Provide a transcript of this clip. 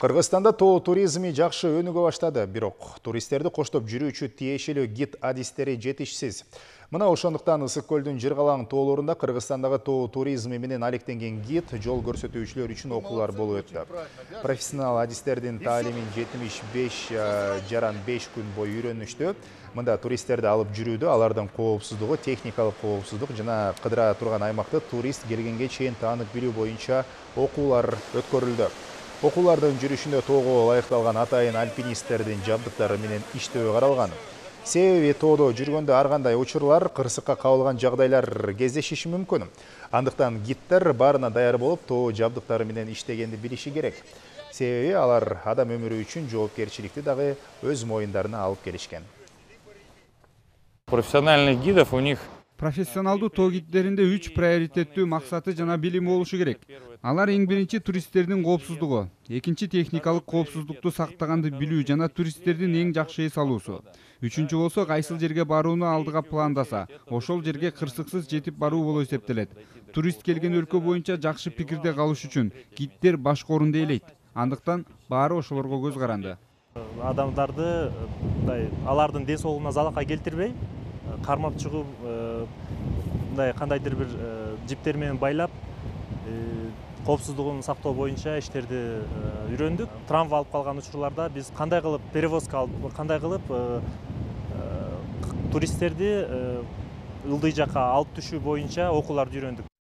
Кыргызстанда тоо туризми жакшы өнүгө баштады, бирок туристтерди коштоп жүрүүчү тиешелүү гид адистери жетишсиз. Мына ошондуктан Ысык көлдүн жыргалаң тоолорунда Кыргызстандагы тоо туризми менен алектенген гид жол көрсөтүүчүлөр үчүн окуулар болуп өттү. Профессионал адистердин таалимин 75,5 күн бою үйрөнүштү. Мында туристтерди алып жүрүүдө алардын коопсуздугу, техникалык коопсуздук жана кыдыра турган аймакты турист келгенге чейин таанып билүү боюнча окуулар өткөрүлдү. Окуулардын жүрүшүндө тоого ылайыкталган атайын альпинисттердин жабдыктары менен иштөө каралган. Себеби тоодо жүргөндө ар кандай учурлар, кырсыкка кабылган жагдайлар кездешиши мүмкүн. Андыктан гиддер баарына даяр болуп, тоо жабдыктары менен иштегенди билиши керек. Себеби алар адам өмүрү үчүн жоопкерчиликти дагы өз моюндарына алып келишкен. Профессиональных гидов у них профессионалдуу тоо гиддеринде 3 приоритеттүү максаты жана билими болушу керек. Алар эң биринчи туристтердин коопсуздугу, экинчи техникалык коопсуздукту сактаганды билүү жана туристтердин эң жакшы эс алуусу. Үчүнчү болсо кайсыл жерге барууну алдыга пландаса, ошол жерге кырсыксыз жетип баруу болуп эсептелет. Турист келген өлкө боюнча жакшы пикирде калыш үчүн гиддер башкы орунду ээлейт. Андыктан баары ошолорго көз каранды. Адамдарды алардын ден соолугуна залалга келтирбей, кармап чыгып, кандайдыр бир жиптер менен байлап, коопсуздугун сактоо боюнча иштерди үйрөндүк. Травма алып калган учурларда биз кандай кылып перевозка алып, кандай кылып туристтерди ылдый жакка алып түшүү боюнча окууларды үйрөндүк.